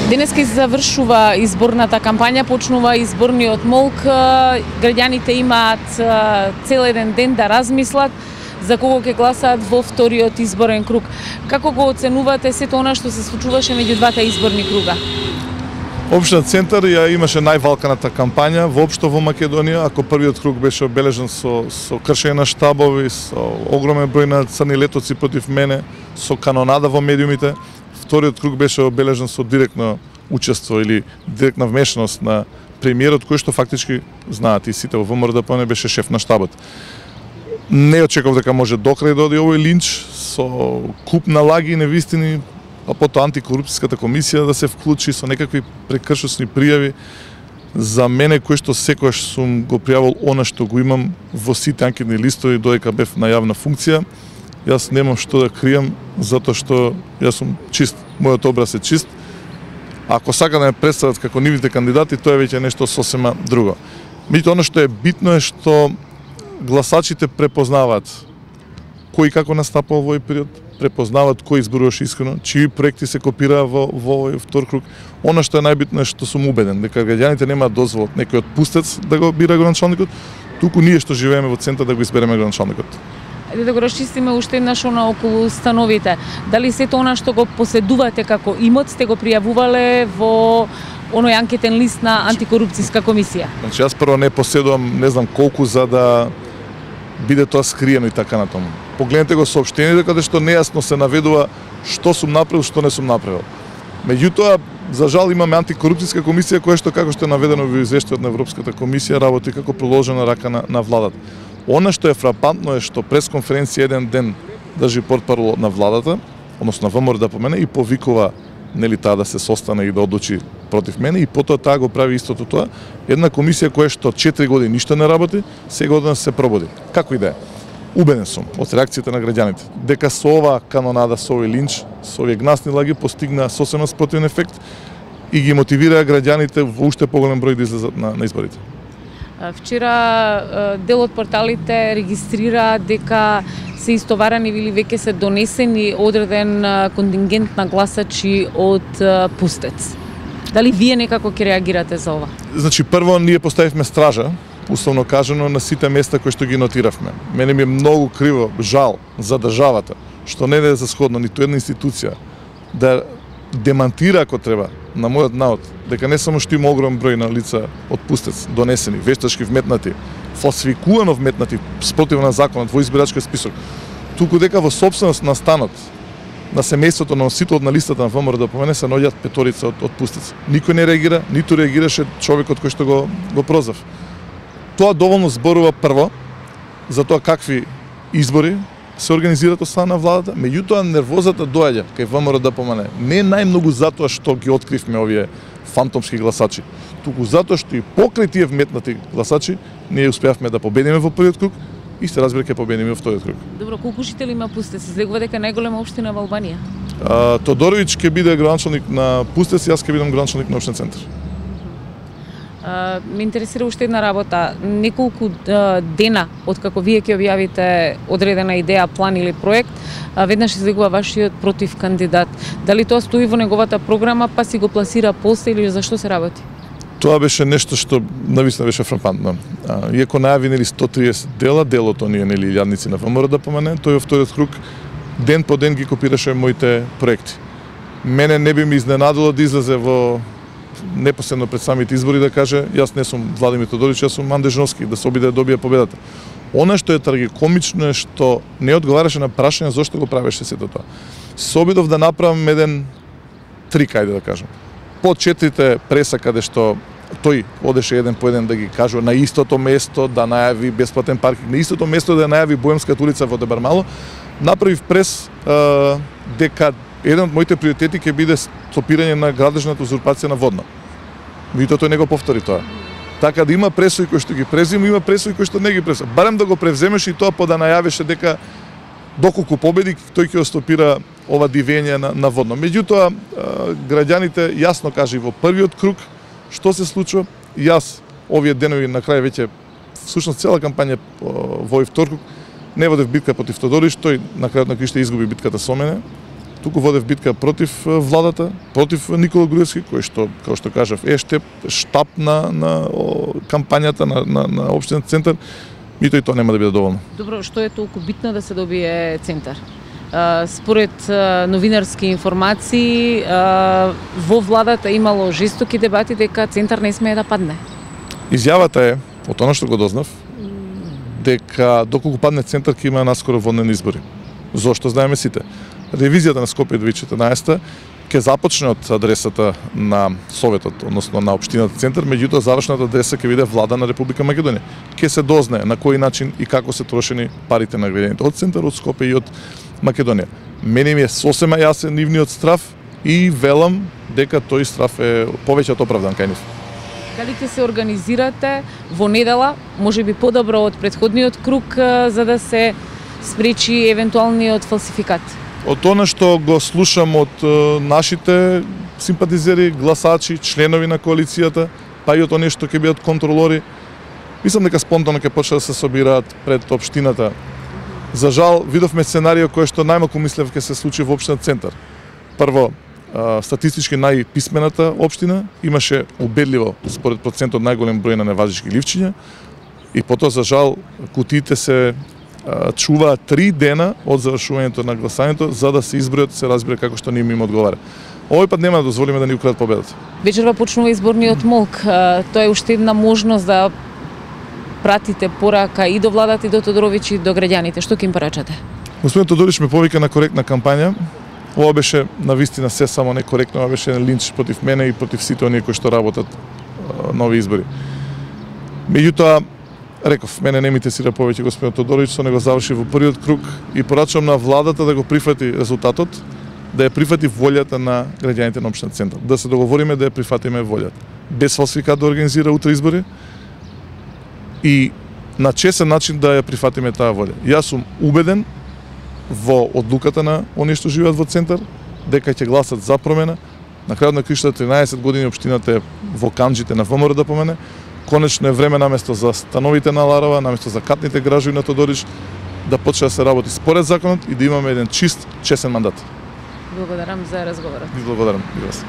Денеска завршува изборната кампања, почнува изборниот молк. Граѓаните имаат цел еден ден да размислат за кого ќе гласаат во вториот изборен круг. Како го оценувате сето она што се случуваше меѓу двата изборни круга? Општина Центар ја имаше највалканата кампања воопшто во Македонија. Ако првиот круг беше обележен со кршење на штабови, со огромен број на црни летоци против мене, со канонада во медиумите, вториот круг беше обележен со директно учество или директна вмешаност на премиерот, кој што фактички знаат и сите во ВМРО беше шеф на штабот. Не очекував дека може докрај да оди овој линч со куп на лаги и невистини, а потоа антикорупцијската комисија да се вклучи со некакви прекршосни пријави. За мене, кој што секогаш сум го пријавил она што го имам во сите анкетни листови додека бев на јавна функција, јас немам што да кријам, затоа што јас сум чист, мојот образ е чист. Ако сака да ме представат како нивните кандидати, тоа е веќе нешто сосема друго. Меѓутоа, она што е битно е што гласачите препознаваат кој како настапува во овој период, препознаваат кој изборуваше искрено, чии проекти се копираа во овој втор круг. Она што е најбитно е што сум убеден дека граѓаните немаат дозвол од некој отпустец да го бира градоначалникот, туку ние што живееме во Центар да го избереме градоначалникот. Да го расчистиме уште еднаш она околу становите. Дали сето она што го поседувате како имот сте го пријавувале во оној анкетен лист на антикорупцијска комисија? Значи јас прво не поседувам не знам колку за да биде тоа скриено и така натаму. Погледнете го соопштението каде што нејасно се наведува што сум направил, што не сум направил. Меѓутоа, за жал имаме антикорупцијска комисија која што како што е наведено во извештајот на Европската комисија работи како продолжена рака на владата. Она што е фрапантно е што пресконференција еден ден држи портпарол на владата, односно на ВМРО да помене и повикува нели таа да се состане и да одлучи против мене и потоа таа го прави истото тоа. Една комисија која што 4 години ништо не работи, сега одеднаш се пробуди. Како и да е. Убеден сум од реакцијата на граѓаните дека со оваа канонада, со овој линч, со овие гнасни лаги постигна сосема спротивен ефект и ги мотивираа граѓаните во уште поголем број да излезат на изборите. Вчера дел од порталите регистрира дека се истоварани или веќе се донесени одреден контингент на гласачи од Пустец. Дали вие некако ќе реагирате за ова? Значи, прво ние поставивме стража, условно кажано, на сите места кои што ги нотиравме. Мене ми е многу криво, жал за државата, што не е за сходно ниту една институција да демантира ако треба на мојот народ дека не само што има огромен број на лица од Пустец донесени, вештачки вметнати, фалсификувано вметнати спротивно на законот во избирачкиот список, туку дека во сопственост на станот на семејството на носителот на листата на ВМРО да помене се наоѓаат петорица од Пустец. Никој не реагира, ниту реагираше човекот кој што го прозвав. Тоа доволно зборува прво за тоа какви избори се организираат од страна на владата, меѓутоа нервозата доаѓа кај ВМРО да помене. Не најмногу затоа што ги откривме овие фантомски гласачи, туку затоа што и покрај тие вметнати гласачи ние успеавме да победиме во првиот круг и се разбира ќе победиме во вториот круг. Добро, колку жители има Пустец? Излегува дека најголема општина во Албанија. Тодоровиќ ќе биде градоначалник на Пустец и јас ќе бидам градоначалник на општинен Центар. Ме интересира уште една работа. Неколку дена од како вие ќе објавите одредена идеја, план или проект, веднаш излегува вашиот против кандидат. Дали тоа стои во неговата програма, па си го пласира после или за што се работи? Тоа беше нешто што навистина беше фрапантно. Иако најави нели 130 дела, делот оние нели илјадници на ВМРО да помене, тој во вториот круг ден по ден ги копираше моите проекти. Мене не би ми изненадило да излезе во непосредно пред самите избори да каже јас не сум Владимир Тодоровиќ, јас сум Анде Жновски, да се обиде да добие победата. Она што е трагикомично е што не одговараше на прашање зошто го правеше сето тоа. Се обидов да направам еден трик, ајде да кажам. По 4 преса каде што тој одеше еден по еден да ги кажува на истото место да најави бесплатен паркинг, на истото место да најави Боемската улица во Дебармало, направив прес дека еден од моите приоритети ќе биде стопирање на градежната узурпација на Водно. Меѓутоа тој не го повтори тоа. Така да има пресои кои што ги презима, има пресои кои што не ги презима. Барем да го превземеш и тоа по да најавеше дека доколку победи тој ќе стопира ова дивење на Водно. Меѓутоа граѓаните јасно кажа и во првиот круг што се случува. Јас овие денови на крај веќе всушност цела кампања во овој втор круг не водев битка против Тодорич, тој на крајот на кришта изгуби битката со мене. туку водев битка против владата, против Никола Груевски, кој што, како што кажав, штаб на кампањата на општинен центар, мито и тоа нема да биде доволно. Добро, што е толку битно да се добие центар? Според новинарски информации, во владата имало жестоки дебати дека центар не смее да падне. Изјавата е, од она што го дознав, дека доколку падне центар ќе има наскоро воднени избори. Зошто знаеме сите? Ревизијата на Скопје 2014 ќе започне од адресата на Советот, односно на општината центар, меѓутоа завршната адреса ќе биде влада на Република Македонија. Ќе се дознае на кој начин и како се трошени парите на граѓаните од центар, од Скопје и од Македонија. Мене ми е сосема јасен нивниот страв и велам дека тој страв е повеќе од оправдан кај нив. Дали ќе се организирате во недела, можеби подобро од претходниот круг, за да се спречи евентуалниот фалсификат? Од она што го слушам од нашите симпатизери, гласачи, членови на коалицијата, па и од оние што ќе бидат контролори, мислам дека спонтано ќе почнат да се собираат пред општината. За жал, видовме сценарио кое што најмалку мислев ќе се случи во општинен центар. Прво, статистички најписмената општина имаше убедливо, според процентот, најголем број на неважички ливчиња, и потоа, за жал, кутиите се чуваат 3 дена од завршувањето на гласањето за да се избројат, се разбере како што ним одговара. Овој пат нема да дозволиме да ни украдат победата. Вечерва почнува изборниот молк. Тоа е уште една можност да пратите порака и до владата, и до Тодорович, и до граѓаните. Што ќе им порачате? Господин Тодорович ме повика на коректна кампања. Ова беше навистина се само некоректно, ова беше линч против мене и против сите оние кои што работат нови избори. Меѓутоа, реков, мене не ми интересира повеќе господин Тодорович, со него заврши во првиот круг и порачувам на владата да го прифати резултатот, да ја прифати волјата на граѓаните на општинен центар, да се договориме да ја прифатиме волјата. Без фалсификат да организира утре избори и на честен начин да ја прифатиме таа волја. Јас сум убеден во одлуката на оние што живеат во центар, дека ќе гласат за промена. На крајот на краиштата 13 години општината е во канџите на ВМРО да помене. Конечно е време наместо за становите на Ларова, наместо за катните гражуи на Тодорич, да почне да се работи според законот и да имаме еден чист, честен мандат. Благодарам за разговорот. И благодарам и вас.